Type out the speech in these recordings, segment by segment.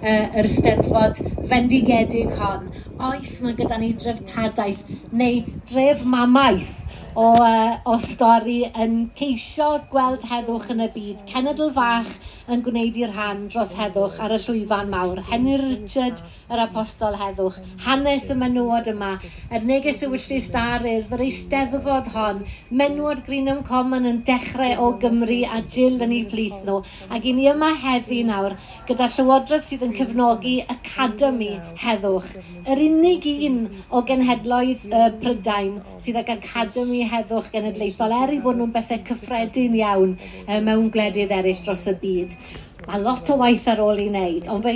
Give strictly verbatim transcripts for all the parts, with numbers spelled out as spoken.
uh, yr Eisteddfod fendigedig hon. Oes, mae gyda ni dreftadaeth neu dref mamaeth o, uh, o stori yn ceisio gweld heddwch yn y byd. Cenedl fach yn gwneud ei rhan dros heddwch ar y llwyfan mawr. Henry Richard, yr apostol heddwch. Hanes y menywod yma, yr neges ewyllys da'r Urdd, yr eisteddfod hon, menywod Greenham Common yn dechrau o Gymru a Jill yn eu plith nhw. Ac i ni yma heddi nawr, gyda llywodraeth sydd yn cefnogi Academi Heddwch. Yr unig un o genhedloedd uh, Prydain sydd ag Academi Heddwch Genedlaethol, er i bod nhw'n bethau cyffredin iawn uh, mewn gwledydd eraill dros y byd. Mae lot o waith ar ôl i wneud, ond fe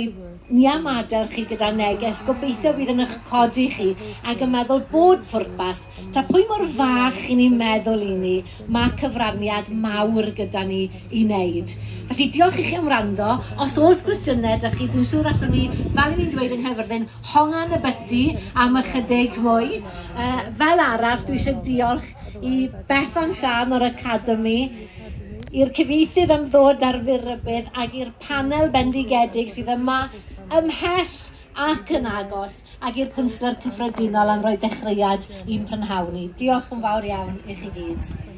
ni am adael chi gyda neges, gobeithio fydd yn eich codi chi ac yn meddwl bod pwrpas. Ta pwy mor fach i ni'n meddwl i ni, mae cyfraniad mawr gyda ni i wneud. Felly diolch i chi am wrando. Os oes gwestiynau 'da chi, dwi'n siŵr allwn ni, fel i ni'n dweud yng Nghaerfyrddin, hongan y byty am ychydig mwy. Uh, fel arall, dwi eisiau diolch i Bethan Sian o'r Academi, i'r cyfieithydd am ddod ar fyr rybudd ac i'r panel bendigedig sydd yma ymhell ac yn agos ac i'r cwnsler cyffredinol am roi dechreuad i'n prynhawn ni. Diolch yn fawr iawn i chi gyd.